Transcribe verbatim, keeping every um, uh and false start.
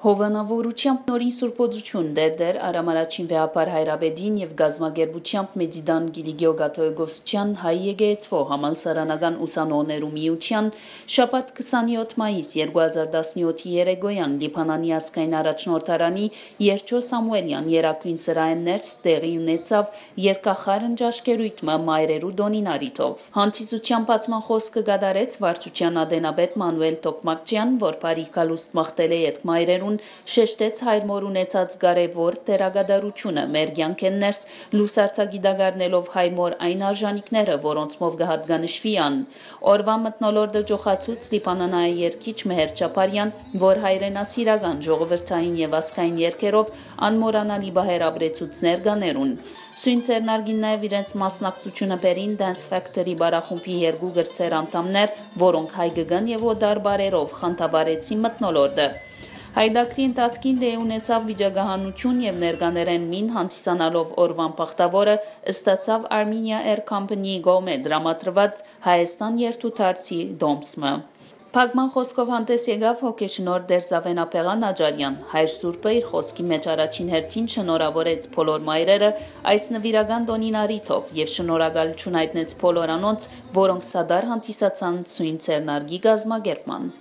Հովանաւորութեամբ նորին սուրբոյցութիւն Տէր Արամ Առաջին վեհափառ հայրապետին եւ կազմակերպութեամբ Մեծի Տան Կիլիկիոյ կաթողիկոսության հայ եկեղեցւոյ համալսարանական ուսանողներու միութեան շաբաթ քսանեօթ մայիս երկու հազար տասնեօթի երեկոյեան Լիբանանի ազգային առաջնորդարանի Երջո Սամուելեան երագոյն սրահէն ներս տեղի ունեցաւ երկախառն ճաշկերոյթ մը մայրերու տօնին առիթով։ Հանդիսութեան բացման խօսքը կատարեց վարչության ատենապետ Մանուել Թոքմաքչեան, որ բարի գալուստ մաղթել է ետք մայրերուն, շեշտեց հայր մօր ունեցած կարեւոր դերակատարութիւնը մեր կեանքէն ներս, լուսարձակի տակ առնելով հայ մօր այն արժանիքները, որոնցմով կը յատկանշուի ան։ Օրուան մթնոլորտը ջոխացուց լիբանանահայ երգիչ Մհեր Չապարեան, որ հայրենասիրական, ժողովրդային եւ ազգային երգերով անմոռանալի պահեր ապրեցուց ներկաներուն։ Սոյն ձեռնարկին նաեւ իրենց մասնակցութիւնը բերին Dance Factory պարախումբի երկու կրտսեր անդամներ, որոնք հայկական եւ օտար պարերով խանդավառեցին մթնոլորտը։ Յայտագրի ընթացքին տեղի ունեցաւ վիճակահանութիւն եւ ներկաներէն մին հանդիսանալով օրուան բախտաւորը ստացաւ Armenia Air Company-ի կողմէ տրամադրուած Հայաստան երթուդարձի տոմս մը։ Փակման խօսքով հանդէս եկաւ հոգեշնորհ Տէր Զաւեն Աբեղան Աճարեան։ Հայր Սուրբը իր խօսքի մէջ առաջին հերթին շնորհաւորեց բոլոր մայրերը այս նուիրական տօնին առիթով եւ շնորհակալութիւն յայտնեց բոլոր անոնց, որոնք սատար հանդիսացան սոյն ձեռնարկի կազմակերպման։